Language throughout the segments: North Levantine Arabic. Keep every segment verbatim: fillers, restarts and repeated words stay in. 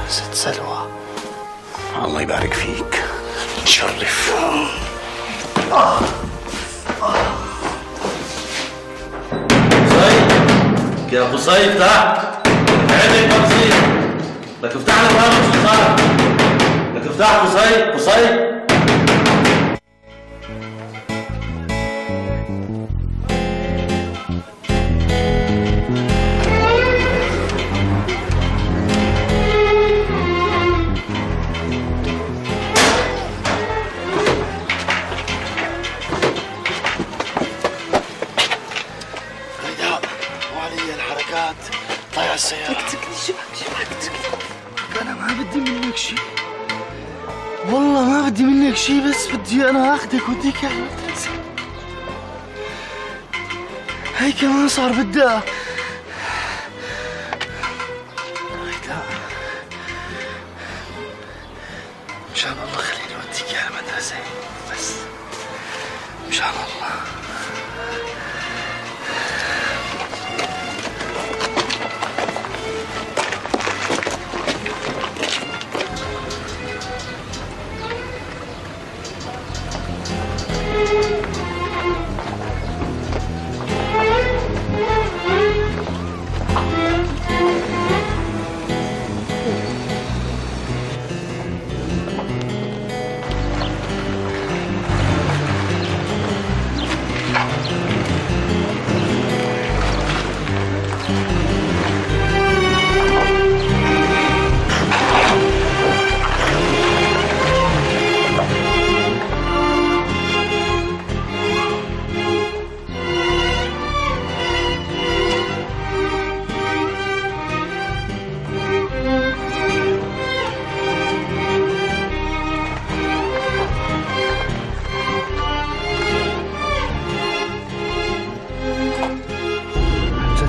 ست سلوى. الله يبارك فيك، تشرف. آه. آه. قصيد يا قصيد تحت عينك ما بصير، لك افتح لك هذا شو صار؟ لك افتح قصيد قصيد. طيع السيارة. لك تكني شو بك شو بك تكني؟ أنا ما بدي منك شيء، والله ما بدي منك شيء، بس بدي أنا آخذك وديك على المدرسة. هي كمان صار بدها. هيدا مشان الله خليني وديك على المدرسة، بس مشان الله.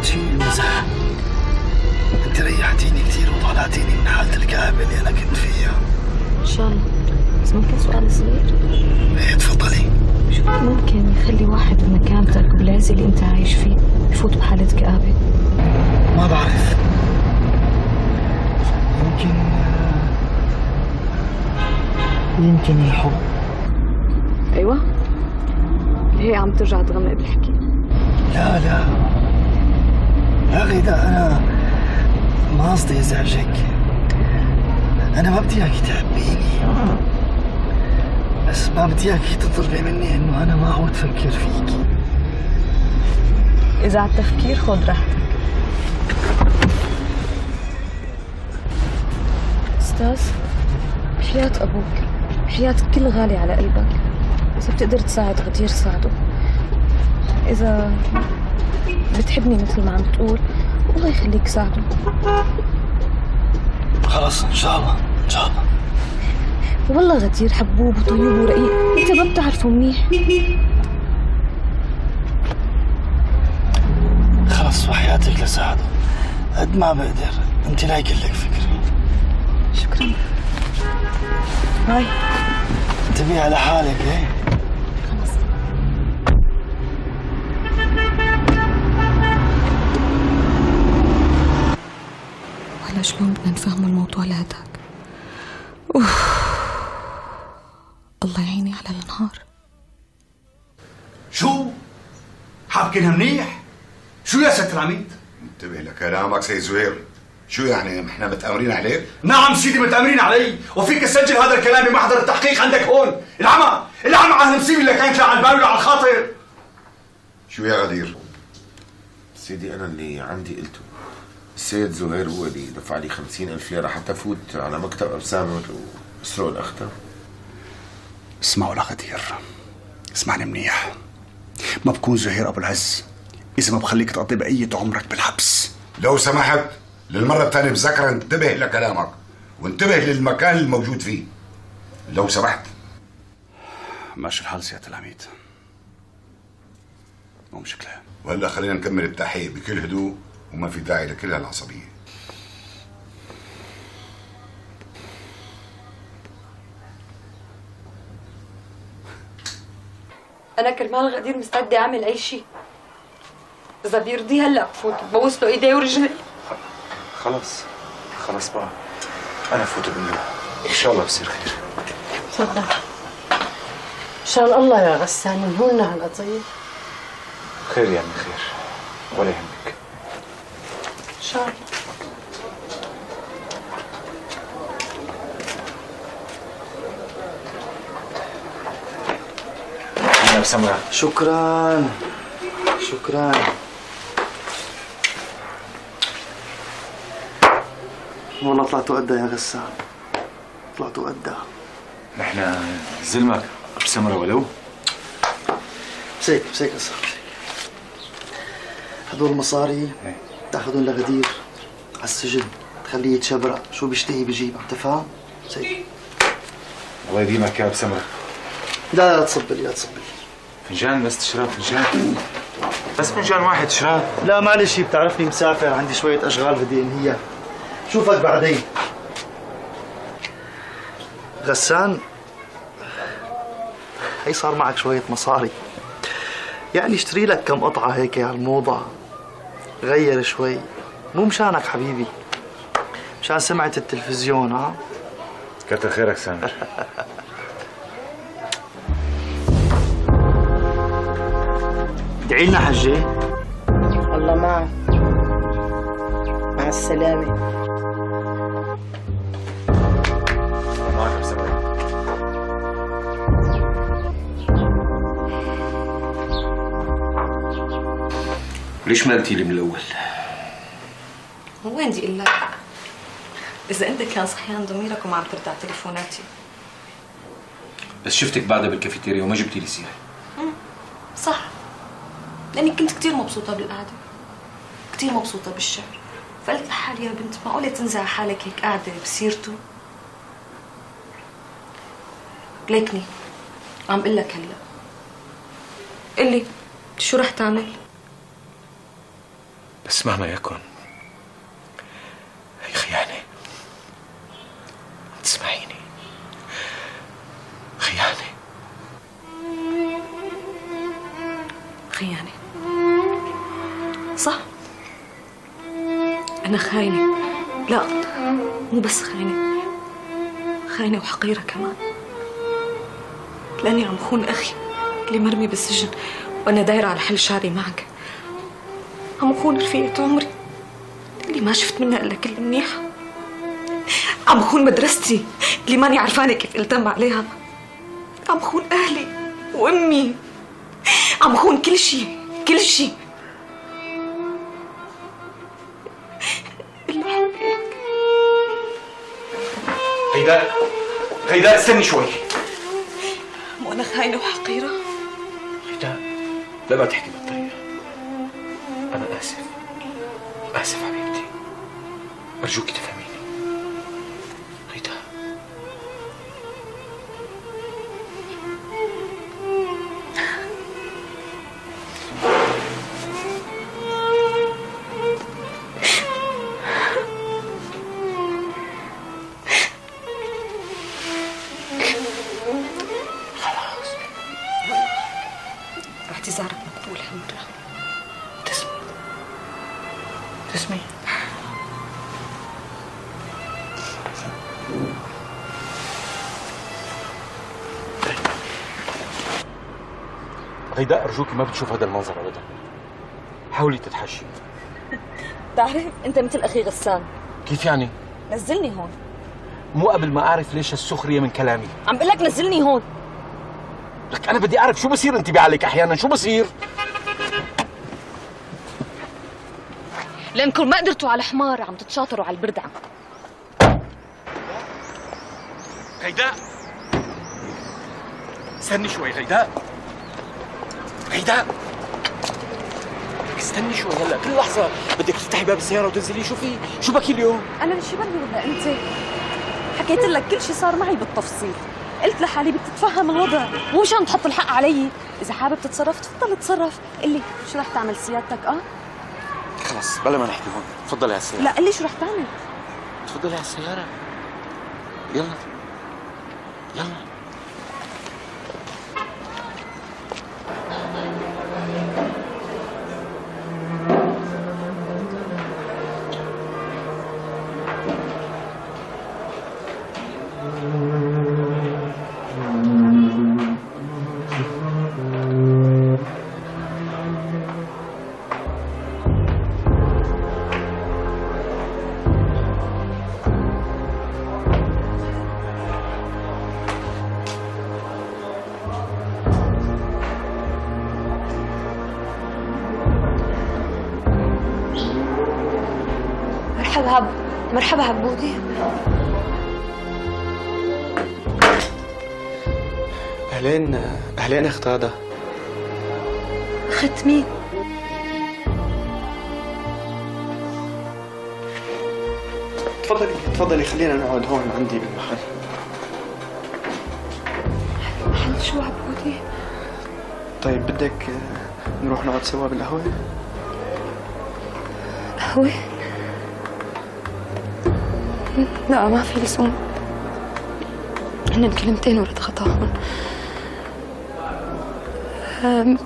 شيء مزح. انت ريحتيني كثير وطلعتيني من حالة الكآبة اللي انا كنت فيها. ان شاء الله. بس ممكن سؤال صغير؟ ايه تفضلي. شو ممكن يخلي واحد بمكانتك بالعز اللي انت عايش فيه يفوت بحالة كآبة؟ ما بعرف، يمكن يمكن الحب. ايوه؟ هي عم ترجع تغمق بالحكي. لا لا يا غيدا، أنا ما قصدي أزعجك، أنا ما بدي إياكي تحبيني، بس ما بدي إياكي تطلبي مني إنه أنا ما أعود أفكر فيكي. إذا على التفكير خذ راحتك. أستاذ، بحياة أبوك، بحياة كل غالي على قلبك، إذا بتقدر تساعد غدير ساعده. إذا بتحبني مثل ما عم تقول، الله يخليك ساعده. خلص إن شاء الله إن شاء الله. والله غدير حبوب وطيب ورقيق، أنت ما بتعرفه منيح. خلص وحياتك لساعده قد ما بقدر، أنت لا يكلك فكرة. شكرا. هاي انتبهي على حالك. ايه خلص. وهلا شلون بدنا نفهم الموضوع لهداك؟ اوف، الله يعيني على النهار. شو؟ حابكنها منيح؟ شو يا ست العميد؟ انتبه لكلامك سيد زهير. شو يعني احنا متآمرين عليك؟ نعم سيدي متآمرين علي، وفيك تسجل هذا الكلام بمحضر التحقيق عندك هون. العمى، العمى على المصيبه اللي كانت لا على البال ولا على الخاطر. شو يا غدير؟ سيدي انا اللي عندي قلته. السيد زهير هو اللي دفع لي خمسين ألف ليرة حتى فوت على مكتب أبسامة واسرق الأختة. اسمعوا لغدير، اسمعني منيح. ما بكون زهير أبو العز إذا ما بخليك تقضي بقية عمرك بالحبس. لو سمحت للمرة الثانية بذكر انتبه لكلامك وانتبه للمكان الموجود فيه. لو سمحت. ماشي الحال سيادة العميد، مو مشكلة. وهلا خلينا نكمل التحقيق بكل هدوء وما في داعي لكل هالعصبية. أنا كرمال غدير مستعدة أعمل أي شيء. إذا بيرضي هلا بفوت ببوس له إيديه ورجلي. خلص خلص بقى، انا فوت بالله ان شاء الله بصير خير. تفضل. ان شاء الله يا غسان ينهولنا هالقضيه. خير يا عمي خير، ولا يهمك. ان شاء الله. انا بسمرة. شكرا شكرا. والله طلعتوا قدها يا غسان، طلعتوا قدها. نحن زلمك بسمرة ولو؟ مسيك مسيك أصلا. هدول المصاري تاخذهم لغدير على السجن، تخليه يتشبرق، شو بيشتهي بيجيب، عم تفهم؟ مسيك. الله يديمك يا بسمرة. لا لا تصب لي لا تصب لي. فنجان بس تشرب فنجان؟ بس فنجان واحد تشرب؟ لا معلش بتعرفني مسافر، عندي شوية أشغال بدي أنهيها. شوفك بعدين. غسان، هي صار معك شوية مصاري، يعني اشتري لك كم قطعة هيك على الموضة، غير شوي، مو مشانك حبيبي، مشان سمعة التلفزيون. ها كتر خيرك سامر. ادعي لنا حجي. الله معك. مع السلامة. معك بسمرة. ليش ما قلتي لي من الأول؟ وين بدي اقول لك؟ إذا أنت كان صحيان ضميرك وما عم ترد على تليفوناتي. بس شفتك بعدها بالكافيتيريا وما جبتي لي سيرة. صح، لأني كنت كتير مبسوطة بالقعدة، كتير مبسوطة بالشعر، فقلت لحالي يا بنت معقولة تنزع حالك هيك قاعدة بسيرته؟ ليكني عم قل لك هلا. قلي شو رح تعمل؟ بس مهما يكن هي خيانة. تسمعيني؟ خيانة. خيانة صح؟ أنا خاينة. لا مو بس خاينة، خاينة وحقيرة كمان، لأني عم خون أخي اللي مرمي بالسجن وأنا دايرة على حل شعري معك. عم خون رفيقة عمري اللي ما شفت منها إلا كل منيحة. عم خون مدرستي اللي ماني عرفانة كيف التم عليها. عم خون أهلي وأمي. عم خون كل شيء كل شيء إلا حبيبك. غيداء غيداء استني شوي. مو أنا خاينة وحقيرة؟ غيداء لا ما تحكي بالطريقة. أنا آسف آسف حبيبتي، أرجوك تفهميني. غيداء خلاص اعتذارك مقبول هالمرة. تسمي تسمي. غيداء أرجوكي ما بتشوف هذا المنظر أبدا، حاولي تتحشي. بتعرف أنت مثل أخي غسان. كيف يعني؟ نزلني هون. مو قبل ما أعرف ليش السخرية من كلامي. عم بقول لك نزلني هون. لك أنا بدي أعرف شو بصير انتبه عليك أحيانا، شو بصير؟ لأنكم ما قدرتوا على حمار عم تتشاطروا على البردعة. غيداء استني شوي. غيداء غيداء استني شوي. هلا كل لحظة بدك تفتحي باب السيارة وتنزلي. شو في؟ شو بكي اليوم؟ أنا مش بري ولا أنت؟ حكيت لك كل شيء صار معي بالتفصيل، قلت لحالي بدي تتفهم الوضع، مو مشان تحط الحق علي. إذا حابب تتصرف تفضل تصرف، قل لي شو رح تعمل سيادتك؟ أه؟ خلص بلا ما نحكي هون، تفضلي على السيارة. لا قل لي شو رح تعمل؟ تفضلي على السيارة. يلا يلا. مرحبا مرحبا عبودي. اهلين اهلين اخت غدا. اخت مين؟ تفضلي تفضلي خلينا نقعد هون عندي بالمحل. محل شو عبودي؟ طيب بدك نروح نقعد سوا بالقهوة؟ قهوة؟ لا ما في لزوم، هن كلمتين ورد غطاهم. أنا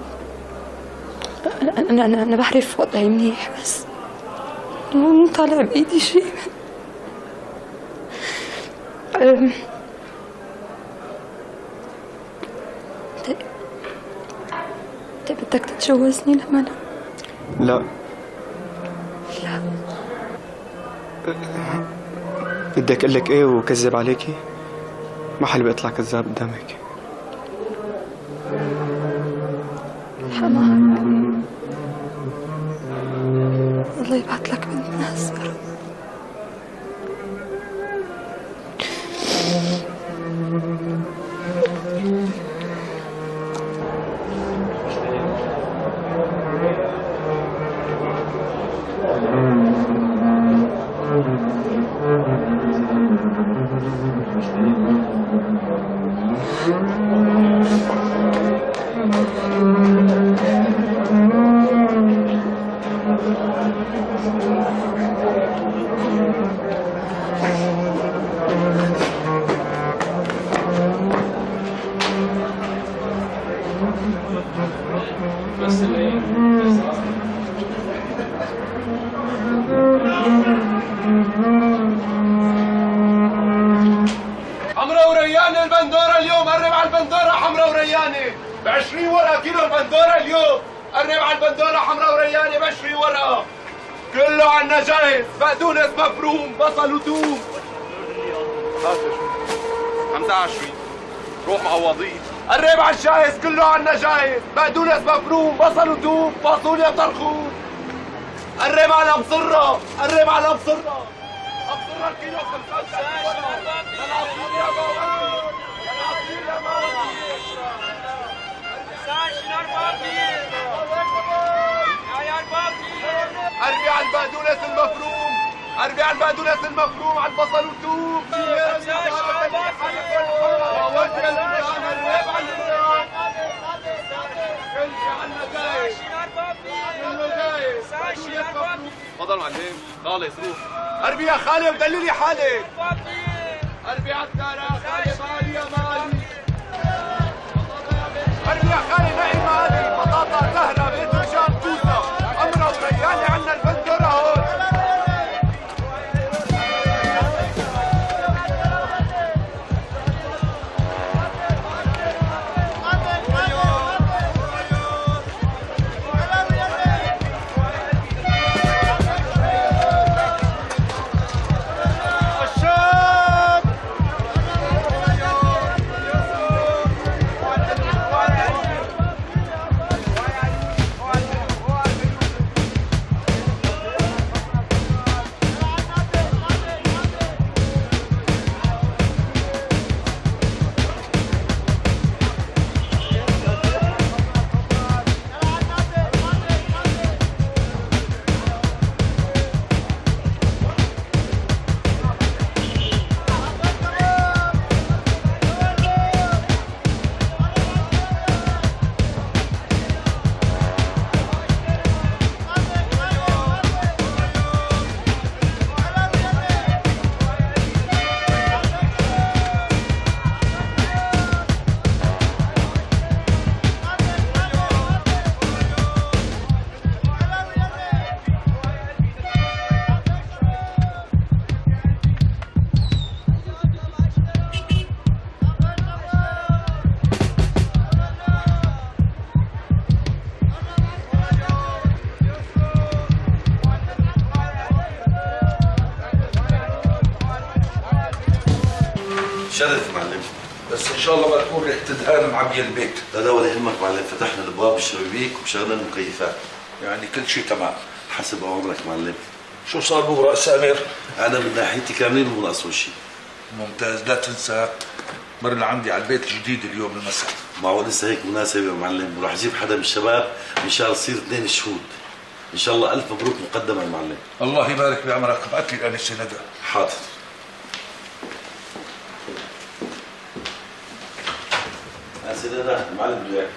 أنا أنا بعرف وضعي منيح بس مو طالع بإيدي شيء. أنت أنت بدك تتجوزني لما أنا؟ لا لا. بدك اقول لك ايه وكذب عليكي؟ ما حلو اطلع كذاب قدامك. حمار الله يبعث لك بنت ناس يا رب. حمرا ورياني البندورة اليوم، قرب على البندورة حمرا ورياني ب عشرين ورقة كيلو البندورة اليوم، قرب على البندورة حمرا ورياني ب عشرين ورقة، كله عنا جاهز، بقدونس مفروم، بصل وثوم. خمسة وعشرين روح معوضين، قرب على الجاهز كله عنا جاهز، بقدونس مفروم، بصل وثوم، فاصوليا طرخون. قرب على مصرة، قرب على مصرة. أبصر الكيلو خمسة وثلاثين ورقة. للعصير يا ماما. للعصير يا ماما. قربي على البقدونس المفروم، قربي على البقدونس المفروم، على البصل والثوم. تفضل معلم، خالص روح. قربي يا خالي ودللي حالك. قربي على الدارة خالي مالي يا مالي. قربي يا خالي نقي مالي، بطاطا زهرة باذنجان توته، حمرا ورياني عنا البندورة هون. شرف معلم. بس ان شاء الله ما تكون ريحه دهان معبيه البيت. لا لا ولا يهمك معلم، فتحنا الابواب والشبابيك وشغلنا المكيفات. يعني كل شيء تمام. حسب اوامرك معلم. شو صار بو راس سامر؟ انا من ناحيتي كاملين مو ناقصه شيء. ممتاز. لا تنسى مرنا عندي على البيت الجديد اليوم المساء. ما هو لسه هيك مناسبه يا معلم، وراح اجيب حدا من الشباب ان شاء الله يصير اثنين شهود. ان شاء الله الف مبروك مقدما يا معلم. الله يبارك بعمرك. ابعث لي الانسه ندى. حاضر. انسه ندى المعلم بده اياك.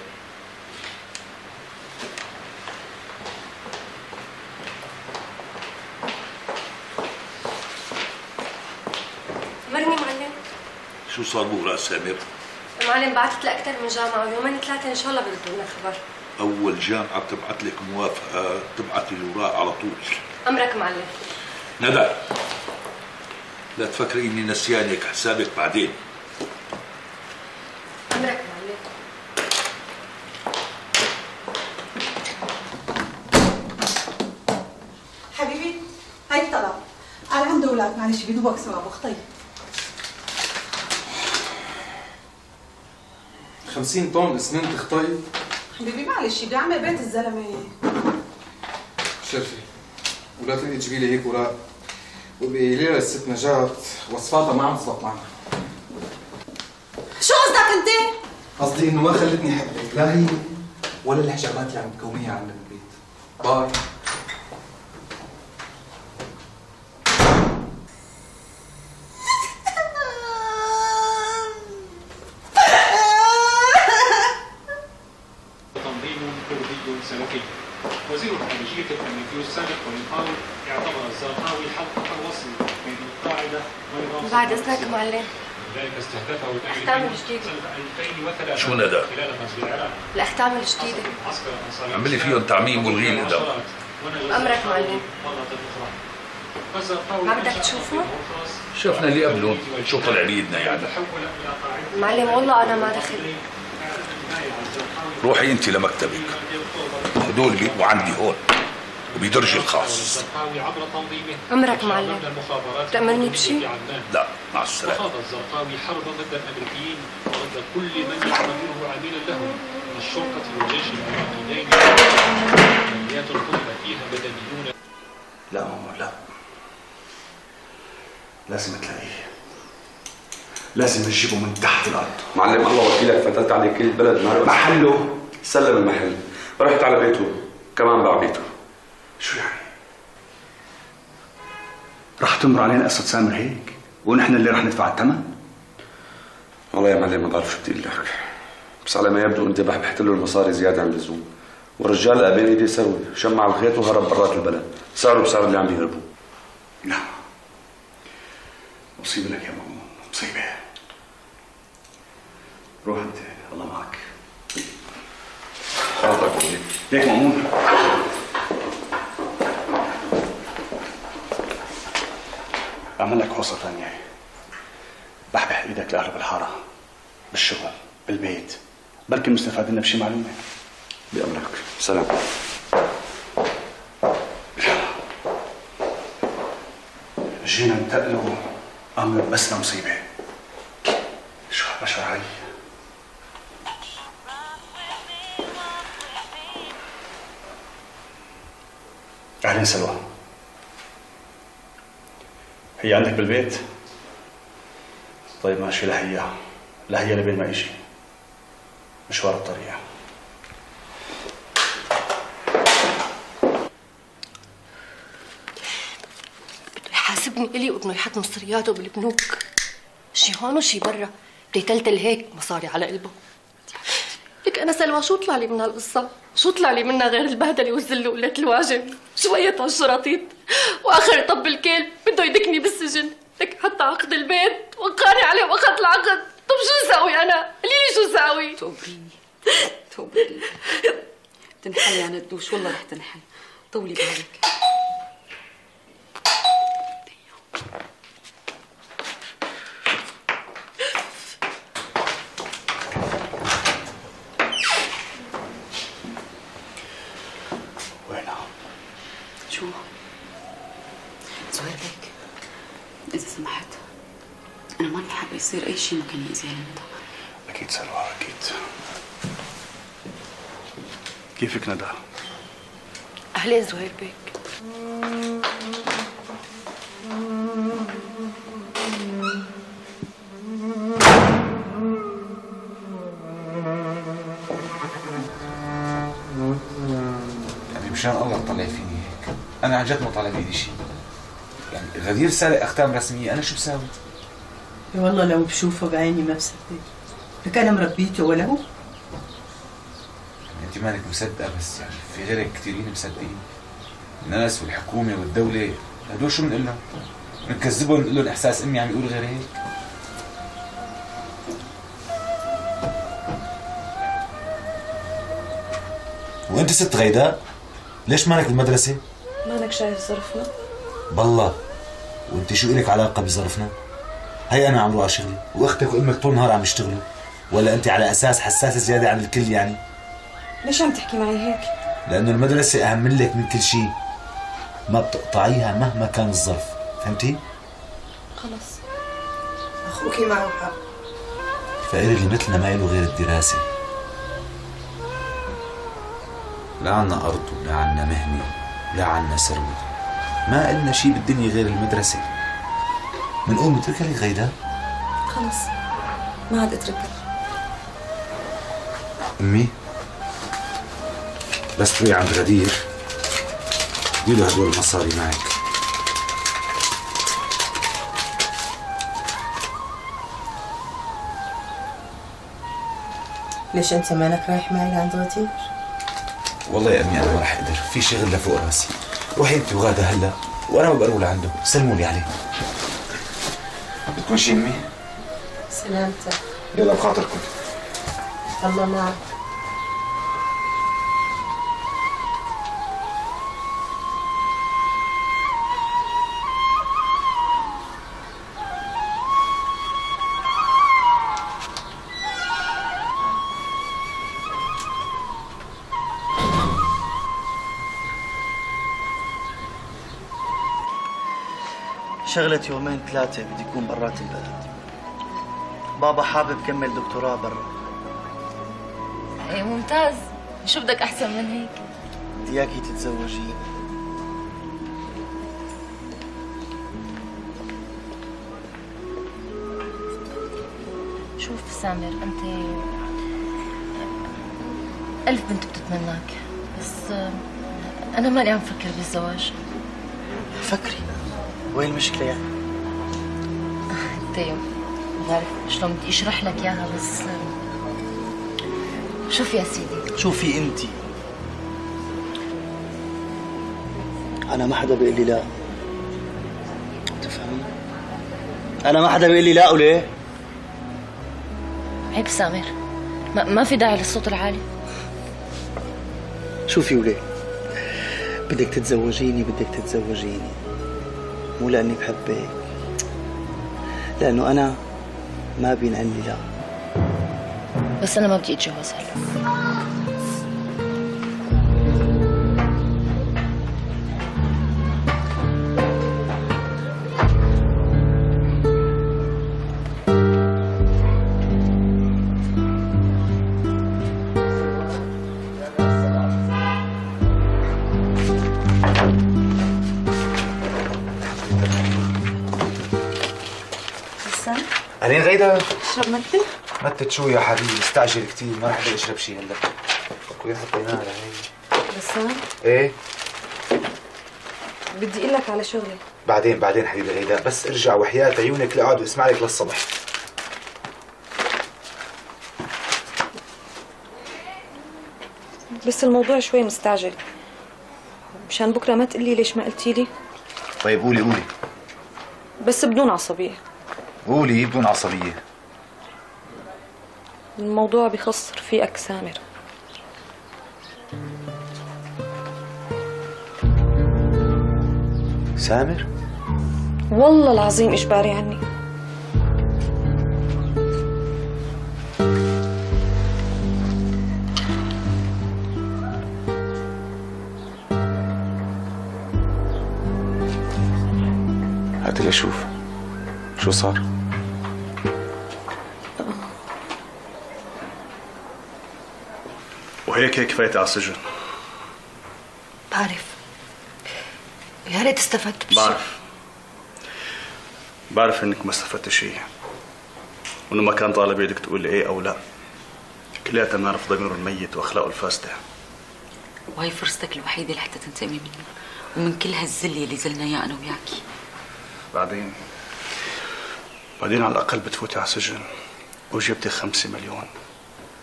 مرني معلم. شو صار بو راس سامر؟ معلم بعثت لأكثر من جامعة ويومين ثلاثة إن شاء الله بردوا لنا خبر. أول جامعة بتبعت لك موافقة تبعتي الأوراق على طول. أمرك معلم. ندى لا تفكري إني نسيانك، حسابك بعدين. أمرك معلم. حبيبي هاي الطلب. أنا عندي أولاد معلش بدوبك سوا بخطي. خمسين طن اسمنت خطي؟ حبيبي معلش بدي أعمل بيت الزلمة. شرفي ولا تقدري تجيبي لي هيك اوراق وبقولي لي الست نجاة وصفاتها ما عم تزبط معنا. شو قصدك أنت؟ قصدي إنه ما خلتني أحبك لا هي ولا الحجابات اللي عم تكونيها عندنا بالبيت. باي. سلفي. وزير الخارجية الأمريكي السابق ولينهاوي اعتبر الزرقاوي حلقة الوصل بين القاعدة ونظام بعد إذنك معلم. ذلك استهدفه الأختام الجديدة. ألفين وثلاثة شو ندى؟ خلال غزو العراق. الأختام الجديدة. عملي فيهم تعميم والغي الإدم. أمرك معلم. ما بدك تشوفه؟ شفنا اللي قبلهم، شو طلع بيدنا يعني. معلم والله أنا ما دخل. روحي انت لمكتبك، هدول بيبقوا عندي هون وبدرجي الخاص. امرك معلم. تأمرني بشيء؟ لا مع السلامة. وخاض الزرقاوي حربا ضد الامريكيين وضد كل من يعتبره عميلا له من الشرطة والجيش الامريكيين. عمليات قتل فيها مدنيون. لا ماما لا، لازم تلاقيه، لازم نجيبه من تحت الارض. معلم الله وكيلك فتلت عليه كل البلد نهار محله سلم المحل، رحت على بيته كمان باع بيته. شو يعني؟ رح تمر علينا قصة سامر هيك ونحن اللي رح ندفع الثمن؟ والله يا معلم ما بعرف شو بدي اقول لك، بس على ما يبدو انت بحبحت له المصاري زيادة عن اللزوم، والرجال قابل ايدي يسوي، شمع الخيط وهرب برات البلد، سعره بسعر اللي عم بيهربوه. لا مصيبة لك يا ماما، مصيبة. روح انت الله معك. حاضر ليك مأمون. اعمل لك قصة ثانية، بحبح ايدك لاهل بالحارة، بالشغل، بالبيت، بلكي مستفاد لنا بشي معلومة. بأمرك، سلام. جينا ننتقلوا أمر بس مصيبة. شو هالبشر هاي؟ أهلين سلوى. هي عندك بالبيت؟ طيب ماشي، لهي لهي لبين ما يجي مشوار الطريق. بده يحاسبني إلي وابنه يحط مصرياته بالبنوك، شي هون وشي برا، بده يتلتل هيك مصاري على قلبه. لك أنا سلوى شو طلع لي من هالقصة؟ شو طلع لي منها غير البهدلة والذل وقلة الواجب؟ شوية هالشراطيط وآخر طب الكلب بده يدكني بالسجن، لك حتى عقد البيت وقعني عليه وأخذ العقد. طب شو ساوي أنا؟ قولي لي شو ساوي؟ توبريني توبريني تنحل يا ندوش، والله رح تنحل، طولي بالك. شو؟ زهير ليك إذا سمحت أنا ماني حابة يصير أي شيء ممكن يأذي ندى. أكيد سلوى أكيد. كيفك ندى؟ أهلين زهير بيك. يعني مشان الله تطلع فيني هيك، أنا عن جد ما طالع بإيدي شيء. يعني غدير سارق أختام رسمية، أنا شو بساوي؟ والله لو بشوفه بعيني ما بصدق، لك أنا مربيته ولا هو؟ انت مالك مصدقه، بس يعني في غيرك كثيرين مصدقين. الناس والحكومه والدوله هدول شو بنقول لهم؟ بنكذبهم نقول لهم احساس امي عم يقول غير هيك؟ وانت ست غيداء ليش مالك بالمدرسه؟ مالك شايف ظرفنا؟ بالله وانت شو الك علاقه بظرفنا؟ هي انا عم روح على شغلي واختك وامك طول النهار عم يشتغلوا، ولا انت على اساس حساسه زياده عن الكل يعني؟ ليش عم تحكي معي هيك؟ لأنه المدرسة أهم من لك من كل شيء، ما بتقطعيها مهما كان الظرف، فهمتي؟ خلص أخوكي معه حق. الفقير اللي مثلنا ما له غير الدراسة. لا عنا أرض ولا عنا مهنة ولا عنا ثروة، ما إلنا شيء بالدنيا غير المدرسة. منقوم نتركها لك غيداء؟ خلص ما عاد اتركها. أمي بس تروحي عند غدير ديله هدول المصاري معك. ليش انت مالك رايح معي لعند غدير؟ والله يا امي انا ما رح اقدر، في شغل لفوق راسي. روحي انت وغاده هلا وانا بقرب لعنده، سلموا لي عليه. بدكم شيء امي؟ سلامتك. يلا بخاطركم. الله معك. شغلة يومين ثلاثة بدي يكون برات البلد. بابا حابب كمل دكتوراه برا. ايه ممتاز، شو بدك أحسن من هيك؟ بدي إياكي تتزوجيني. شوف سامر، أنت ألف بنت بتتمناك، بس أنا ماني عم فكر بالزواج. فكري، وين المشكلة يعني؟ انت ما بعرف شلون بدي اشرح لك اياها، بس شوف يا سيدي. شوفي انت، انا ما حدا بيقول لي لا، تفهمي؟ انا ما حدا بيقول لي لا. وليه؟ عيب سامر، ما, ما في داعي للصوت العالي. شوفي وليه، بدك تتزوجيني بدك تتزوجيني مو لأني بحبك، لأنه أنا ما بينقال لي لا. بس أنا ما بدي أتجوز هلا. أهلين غيداء. اشرب متة؟ متت شو يا حبيبي، مستعجل كثير، ما رح اقدر اشرب شيء هلا. وين حطيناها لهي؟ بسام؟ ايه؟ بدي اقول لك على شغلي. بعدين بعدين حبيبي غيداء، بس ارجع وحياة عيونك لقعد واسمع لك للصبح. بس الموضوع شوي مستعجل، مشان بكره ما تقلي ليش ما قلتي لي. طيب قولي قولي. بس بدون عصبية. قولي بدون عصبية. الموضوع بخص رفيقك سامر. سامر؟ والله العظيم إجباري عني. هات لي اشوف شو صار. وهيك هيك فايتة على السجن. بعرف. يا ريت استفدت بشيء. بعرف بعرف انك ما استفدت شيء، وانه ما كان طالب بيدك تقول لي ايه او لا. كلياتنا بنعرف ضميره الميت واخلاقه الفاسده. وهي فرصتك الوحيده لحتى تنتقمي منه ومن كل هالذل اللي زلنا اياه انا وياكي. بعدين بعدين على الاقل بتفوتي على السجن وجبتي خمسة مليون،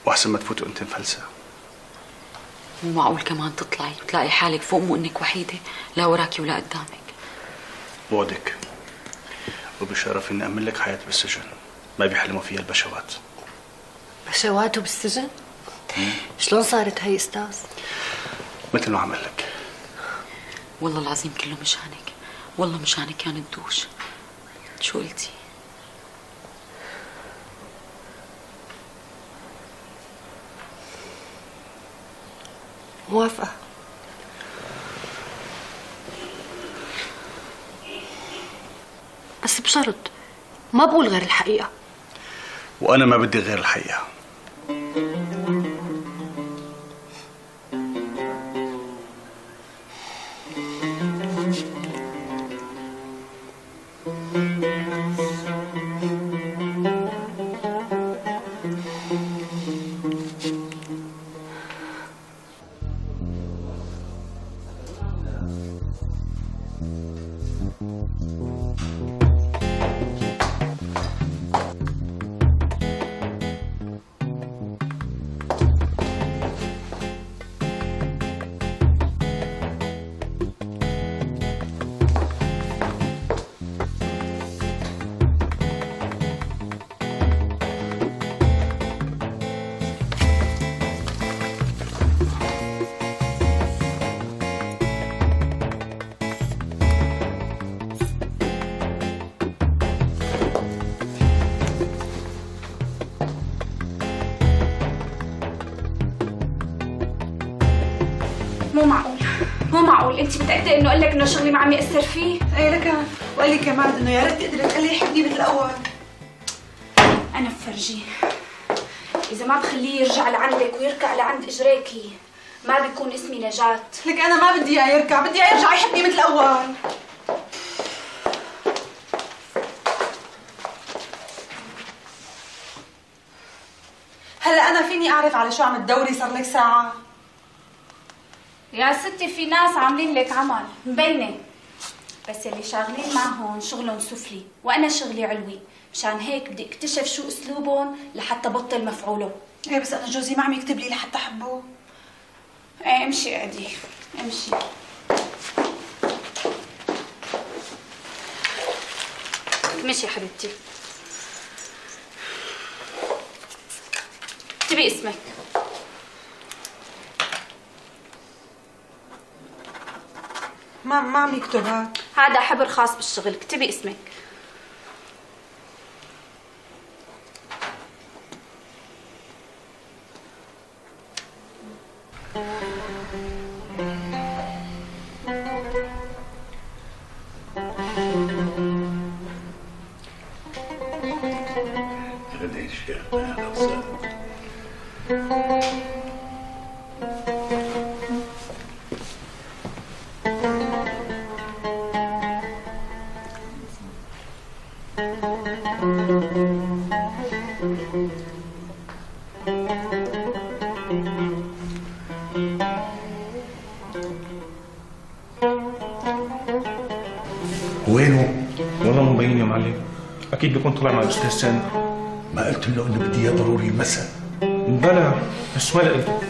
واحسن ما تفوتي وانت مفلسه. مو معقول كمان تطلعي وتلاقي حالك فوق مو انك وحيده لا وراكي ولا قدامك. بوعدك وبشرف اني امن لك حياه بالسجن ما بيحلموا فيها البشوات. بشواته بالسجن؟ شلون صارت هي استاذ؟ مثل ما عمل لك. والله العظيم كله مشانك، والله مشانك كان الدوش. شو قلتي؟ موافقة. بس بشرط ما بقول غير الحقيقة. وانا ما بدي غير الحقيقه. مو معقول مو معقول، انت متأكدة انه قال لك انه شغلي ما عم يأثر فيه؟ ايه لك، وقال لي كمان انه يا ريت تقدري تخليه يحبني مثل الاول. انا بفرجيه، اذا ما بخليه يرجع لعندك ويركع لعند اجريكي ما بيكون اسمي نجاة. لك انا ما بدي اياه يركع، بدي اياه يرجع يحبني مثل الاول. هلا انا فيني اعرف على شو عم تدوري صار لك ساعة؟ يا ستي في ناس عاملين لك عمل مبينة، بس يلي شاغلين معهم شغلهم سفلي وانا شغلي علوي، مشان هيك بدي اكتشف شو اسلوبهم لحتى بطل مفعوله. ايه بس انا جوزي ما عم يكتب لي لحتى احبه. ايه امشي قعدي امشي. مشي حبيبتي. اكتبي اسمك. ما ما عم يكتب هاد. هذا حبر خاص بالشغل، اكتبي اسمك. وينه؟ والله مو مبين يا معلم، اكيد بيكون طلع مع الاستاذ سامر. ما قلت له انه بدي اياه ضروري المساء؟ بلا بس ما لقيته.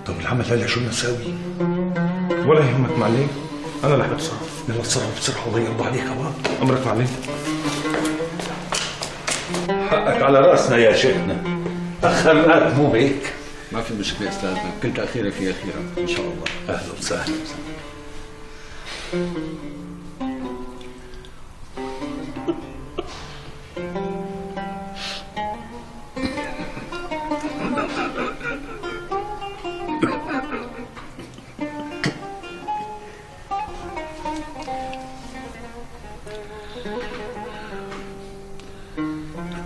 طب العمل هلا شو بدنا نساوي؟ ولا يهمك معلم، انا رح بتصرف. يلا تصرف بسرعه الله يرضى عليك. كمان امرك معلم. حقك على راسنا يا شيخنا، اخرناك مو هيك؟ ما في مشكله استاذ، كنت اخيرك في اخيرا ان شاء الله. اهلا وسهلا.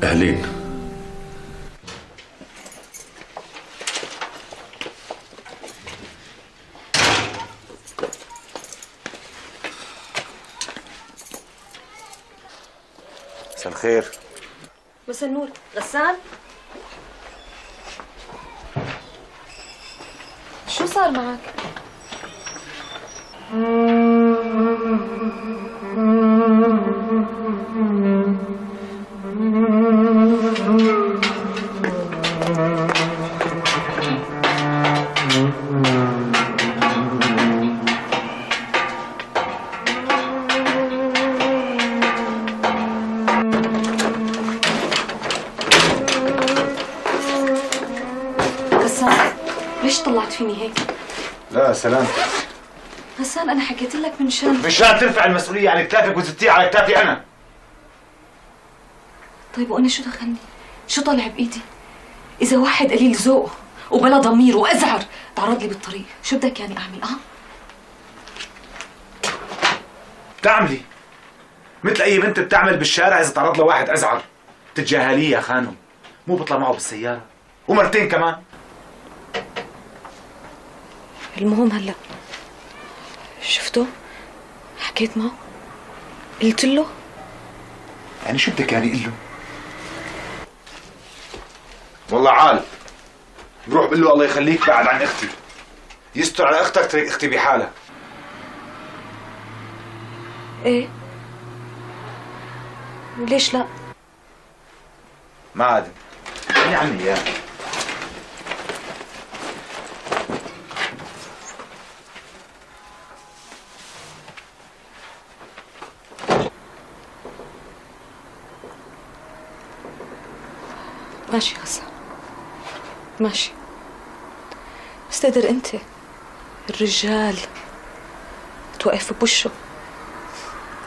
أهلين. الخير. مساء النور. غسان؟ شو صار معك؟ ليش طلعت فيني هيك؟ لا سلامتك. غسان أنا حكيت لك من شان مشان ترفع المسؤولية عن كتافك وتزتيها على كتافي أنا. طيب وأنا شو دخلني؟ شو طالع بإيدي؟ إذا واحد قليل ذوق وبلا ضمير وأزعر تعرض لي بالطريق، شو بدك يعني أعمل؟ أه؟ بتعملي مثل أي بنت بتعمل بالشارع إذا تعرض لها واحد أزعر، بتتجاهليه يا خانم، مو بطلع معه بالسيارة ومرتين كمان. المهم هلا شفته؟ حكيت معه؟ قلت له؟ يعني شو بدك يعني قل له؟ والله عال بروح بقول له الله يخليك بعد عن اختي، يستر على اختك ترك اختي بحالها. ايه ليش لا؟ ما عاد خلي عني اياه. ماشي غسان ماشي، بس تقدر انت الرجال توقف بوشه،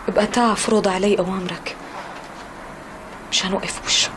ابقى تعا فرض علي اوامرك مشان اوقف بوشه.